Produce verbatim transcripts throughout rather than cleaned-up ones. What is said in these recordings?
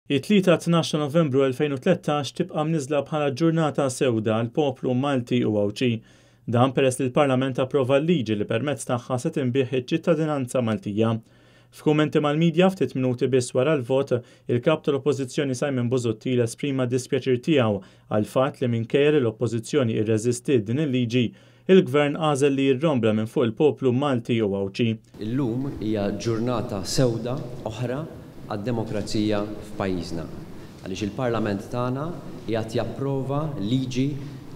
It-Tlieta tnax ta' Novembru elfejn u tlettax tibqa' mniżla bħala ġurnata sewda għal poplu Malti u Għawdxi. Dan peress li l-Parlament approva l-liġi li permezz tagħha se tinbiegħ iċ-ċittadinanza Maltija. F'kummenti mal-medja ftit minuti biss wara l-vot, il-kap tal-Oppożizzjoni Simon Busuttil esprima dispjaċir tiegħu għal fatt li minkejja li l-Oppożizzjoni irreżistiet din il-liġi, il-Gvern għażel li jirrombla minn fuq il-poplu Malti u Għawdxi. Illum hija ġurnata sewda oħra għad-demokrazija f'pajjiżna, għaliex il-Parlament tagħna qiegħed japprova liġi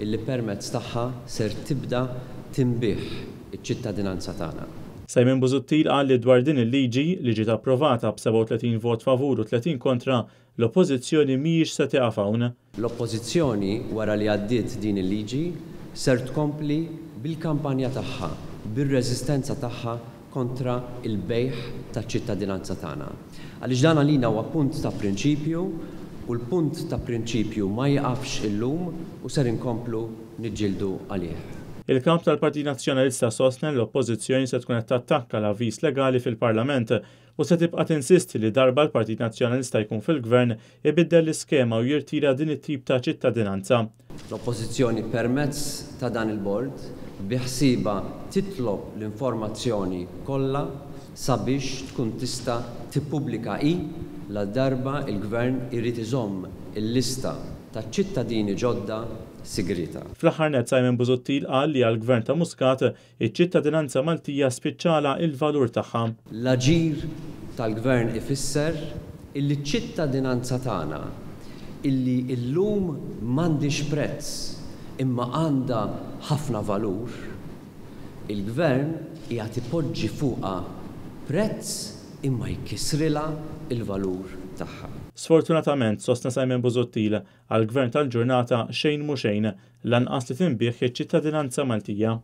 illi permezz tagħha ser tibda tinbiegħ iċ-ċittadinanza tagħna. Simon Busuttil qal li dwar din il-liġi li ġiet approvata b'sebgħa u tletin vot favur u tletin kontra, l-Oppożizzjoni mhijiex se tieqaf hawn. L-Oppożizzjoni wara li għaddiet din il-liġi ser tkompli bil-kampanja tagħha, bir-reżistenza tagħha kontra il-bejgħ taċ-ċittadinanza tagħna. Għaliex dan għalina huwa punt ta' prinċipju u l-punt ta' prinċipju ma jaqafx illum u ser inkomplu niġġieldu għalih. Il-kap tal-Partit Nazzjonalista sostna li l-Oppożizzjoni se tkun qed tattakka l-avviż legali fil-Parlament u se tibqa' tinsisti li darba l-Partit Nazzjonalista jkun fil-Gvern ibiddel l-iskema u jirtira din it-tip ta' ċittadinanza. L-Oppożizzjoni permezz ta' dan il-bord biħsieba titlob l-informazzjoni kollha sabiex tkun tista' tippubblika hi la darba il-Gvern irid iżomm il-lista ta' ċittadini ġodda sigrita. Fl-aħħar nett Simon Busuttil qal li għall-Gvern ta' Muscat iċ-ċittadinanza Maltija spiċċala il-valur tagħha. L-aġir tal-Gvern ifisser illi ċ-ċittadinanza tagħna illi illum m'għandix prezz imma għandha ħafna valur, il-Gvern qiegħed ipoġġi fuqha prezz imma jkissrilha il-valur tagħha. Sfortunatament, sostna Simon Busuttil, għall-Gvern tal-ġurnata xejn mhu xejn, lanqas li tinbiegħ iċ-ċittadinanza Maltija.